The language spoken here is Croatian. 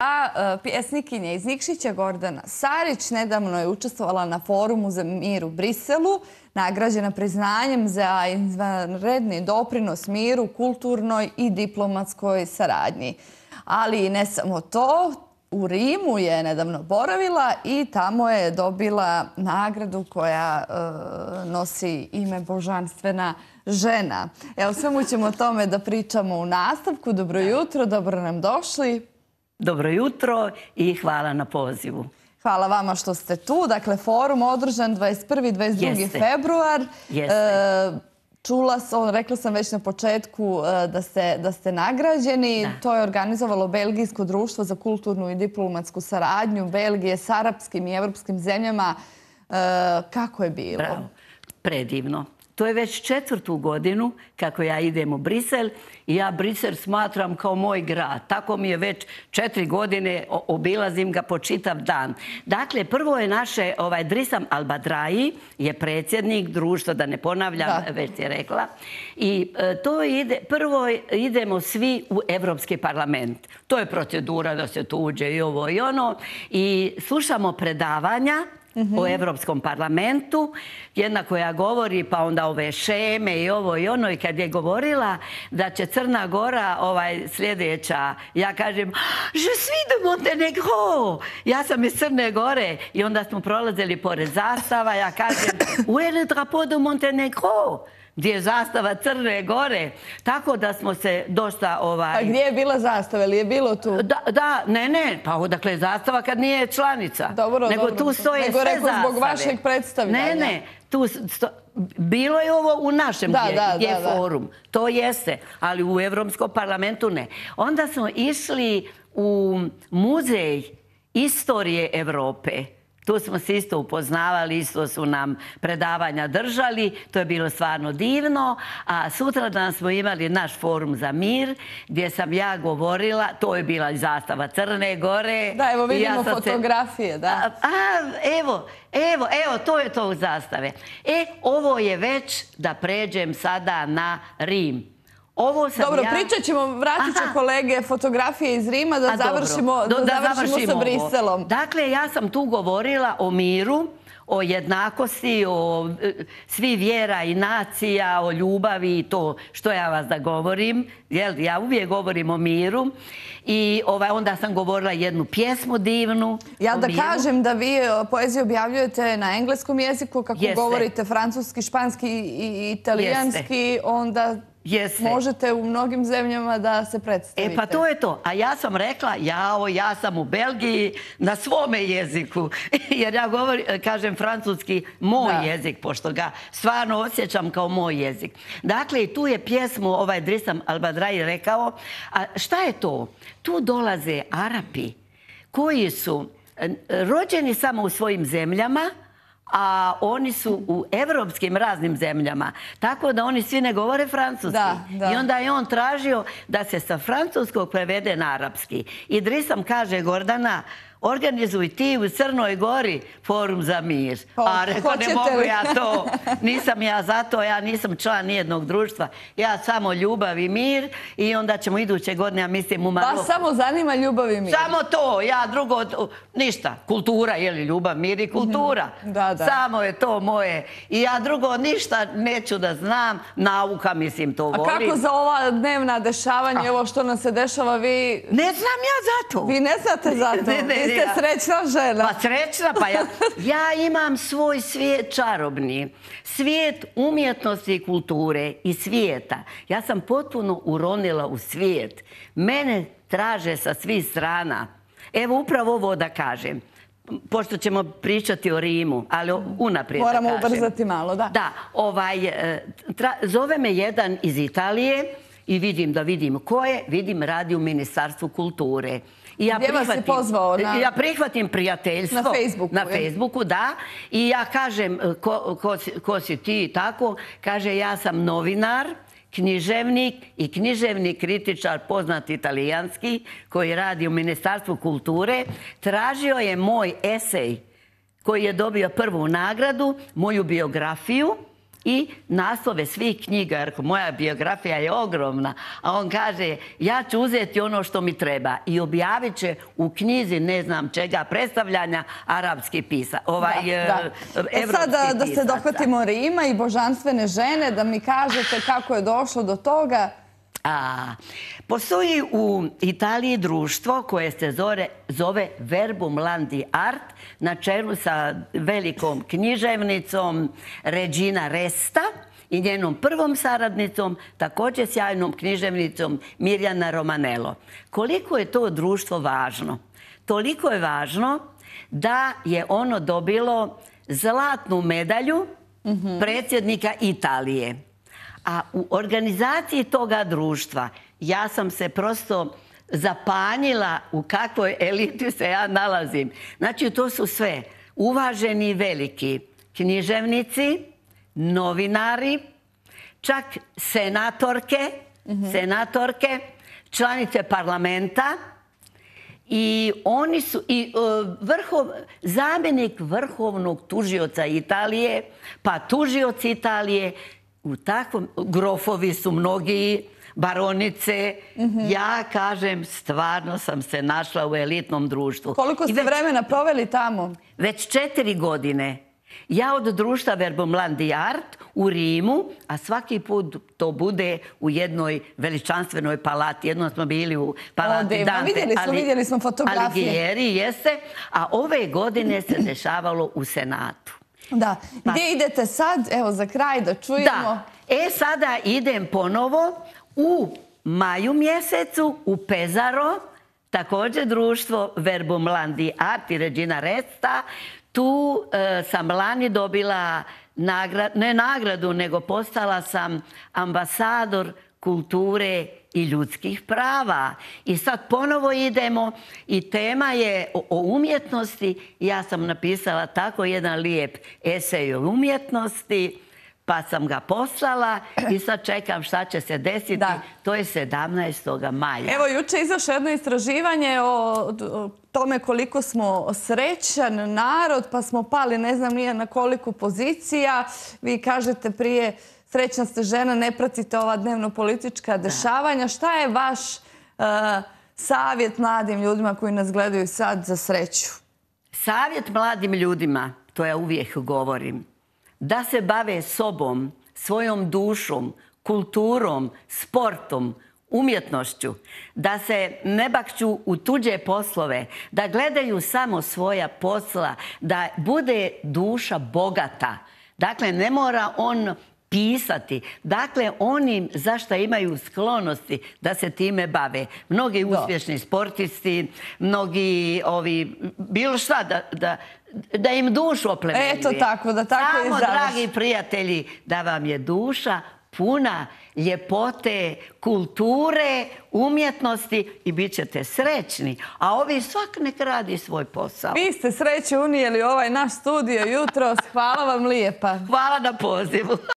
A pjesnikinja iz Nikšića Gordana Sarić nedavno je učestvovala na forumu za mir u Briselu, nagrađena priznanjem za izvanredni doprinos miru, kulturnoj i diplomatskoj saradnji. Ali ne samo to, u Rimu je nedavno boravila i tamo je dobila nagradu koja nosi ime Božanstvena žena. Evo, svemu ćemo o tome da pričamo u nastavku. Dobro jutro, dobro nam došli. Dobro jutro i hvala na pozivu. Hvala vama što ste tu. Dakle, forum održan 21. i 22. februar. Čula sam, rekla sam već na početku da ste nagrađeni. To je organizovalo Belgijsko društvo za kulturnu i diplomatsku saradnju Belgije s arapskim i evropskim zemljama. Kako je bilo? Bravo. Predivno. To je već 4. godinu kako ja idem u Brisel i ja Brisel smatram kao moj grad. Tako mi je već 4 godine, obilazim ga po čitav dan. Dakle, prvo je naše, Drissam Al-Badrahi je predsjednik društva, da ne ponavljam, već je rekla. I prvo idemo svi u Evropski parlament. To je procedura da se tu uđe i ovo i ono. I slušamo predavanja o Evropskom parlamentu, jedna koja govori, pa onda ove šeme i ovo i ono, i kad je govorila da će Crna Gora sljedeća, ja kažem, je suis de Montenegro, ja sam iz Crne Gore, i onda smo prolazili pored zastava, ja kažem, où est le drapeau de Montenegro? Gdje je zastava Crne Gore. Tako da smo se dosta... A gdje je bila zastava? Ili je bilo tu? Da, ne. Pa odakle je zastava kad nije članica? Dobro. Nego tu stoje sve zastave. Nego rekao zbog vašeg predstavljanja. Ne. Bilo je ovo u našem gdje je forum. To jeste. Ali u Evropskom parlamentu ne. Onda smo išli u muzej istorije Evrope. Tu smo se isto upoznavali, isto su nam predavanja držali, to je bilo stvarno divno. A sutradan smo imali naš forum za mir, gdje sam ja govorila, to je bila i zastava Crne Gore. Da, evo vidimo fotografije, da. Evo, to je to u zastave. Ovo je već, da pređem sada na Rim. Dobro, pričat ćemo, vratit će kolege fotografije iz Rima da završimo sa Briselom. Dakle, ja sam tu govorila o miru, o jednakosti, o svi vjera i nacija, o ljubavi i to što ja vas da govorim. Ja uvijek govorim o miru. I onda sam govorila jednu pjesmu divnu. Ja da kažem da vi poeziju objavljujete na engleskom jeziku, kako govorite francuski, španski i italijanski, onda... možete u mnogim zemljama da se predstavite. Pa to je to. A ja sam rekla, ja sam u Belgiji na svome jeziku. Jer ja kažem francuski moj jezik, pošto ga stvarno osjećam kao moj jezik. Dakle, tu je pjesmu Drissam Al-Badrahi rekao. A šta je to? Tu dolaze Arapi koji su rođeni samo u svojim zemljama, a oni su u evropskim raznim zemljama. Tako da oni svi ne govore francuski. I onda je on tražio da se sa francuskog prevede na arapski. I Drissam kaže, Gordana, organizuj ti u Crnoj Gori forum za mir. A rekao, ne mogu ja to. Nisam ja za to, ja nisam član nijednog društva. Ja samo ljubav i mir i onda ćemo iduće godine, ja mislim, u Maroku. Vas samo zanima ljubav i mir? Samo to, ja drugo, ništa. Kultura, je li ljubav, mir i kultura. Samo je to moje. I ja drugo ništa neću da znam. Nauka, mislim, to volim. A kako za ova dnevna dešavanja, ovo što nam se dešava, vi... Ne znam ja za to. Vi ne znate za to? Vi ste srećna žena. Pa srećna, pa ja imam svoj svijet čarobni. Svijet umjetnosti i kulture i svijeta. Ja sam potpuno uronila u svijet. Mene traže sa svih strana. Evo, upravo ovo da kažem. Pošto ćemo pričati o Rimu, ali unaprijed da kažem. Moramo ubrzati malo, da. Da, zove me jedan iz Italije i vidim ko je, radi u Ministarstvu kulture. Gdje vas je pozvao? Ja prihvatim prijateljstvo. Na Facebooku? Na Facebooku, da. I ja kažem, ko si ti i tako? Kaže, ja sam novinar, književnik i književni kritičar, poznat italijanski, koji radi u Ministarstvu kulture. Tražio je moj esej koji je dobio prvu nagradu, moju biografiju, i naslove svih knjiga, jer moja biografija je ogromna, a on kaže ja ću uzeti ono što mi treba i objavit će u knjizi ne znam čega predstavljanja arapski pisac, sad da se dohvatimo Rima i božanstvene žene, da mi kažete kako je došlo do toga. Postoji u Italiji društvo koje se zove Verbum Landi Art, na čelu sa velikom književnicom Regina Resta i njenom prvom saradnicom, također sjajnom književnicom Mirjana Romanello. Koliko je to društvo važno? Toliko je važno da je ono dobilo zlatnu medalju predsjednika Italije. A u organizaciji toga društva ja sam se prosto zapanjila u kakvoj eliti se ja nalazim. Znači, to su sve uvaženi i veliki književnici, novinari, čak senatorke, članice parlamenta i oni su i zamjenik vrhovnog tužioca Italije, pa tužioci Italije. U takvom, grofovi su mnogi, baronice. Ja kažem, stvarno sam se našla u elitnom društvu. Koliko ste vremena proveli tamo? Već 4 godine. Ja od društva Verbum Landi Art u Rimu, a svaki put to bude u jednoj veličanstvenoj palati. Jednom smo bili u palati Dante vidjeli smo fotografije. Alighieri, jeste. A ove godine se dešavalo u Senatu. Da. Gdje idete sad? Evo, za kraj da čujemo. Da. Sada idem ponovo u maju mjesecu u Pesaro, također društvo Verbum Landi Art i Regina Resta. Tu sam lani dobila ne nagradu, nego postala sam ambasador kulture i ljudskih prava. I sad ponovo idemo i tema je o umjetnosti. Ja sam napisala tako jedan lijep esej o umjetnosti, pa sam ga poslala i sad čekam šta će se desiti. To je 17. maja. Evo, juče je izašlo jedno istraživanje o tome koliko smo srećan narod, pa smo pali ne znam nije na koliko pozicija. Vi kažete prije srećna ste žena, ne pratite ova dnevno-politička dešavanja. Šta je vaš savjet mladim ljudima koji nas gledaju sad za sreću? Savjet mladim ljudima, to ja uvijek govorim, da se bave sobom, svojom dušom, kulturom, sportom, umjetnošću, da se ne bakću u tuđe poslove, da gledaju samo svoja posla, da bude duša bogata. Dakle, ne mora on pisati. Dakle, oni zašto imaju sklonosti da se time bave. Mnogi uspješni sportisti, mnogi bilo šta da im dušu oplemenjuje. Eto tako, da tako i završi. Samo, dragi prijatelji, da vam je duša puna ljepote, kulture, umjetnosti i bit ćete srećni. A ovi svak nek radi svoj posao. Vi ste sreće unijeli ovaj naš studio jutros. Hvala vam lijepa. Hvala na pozivu.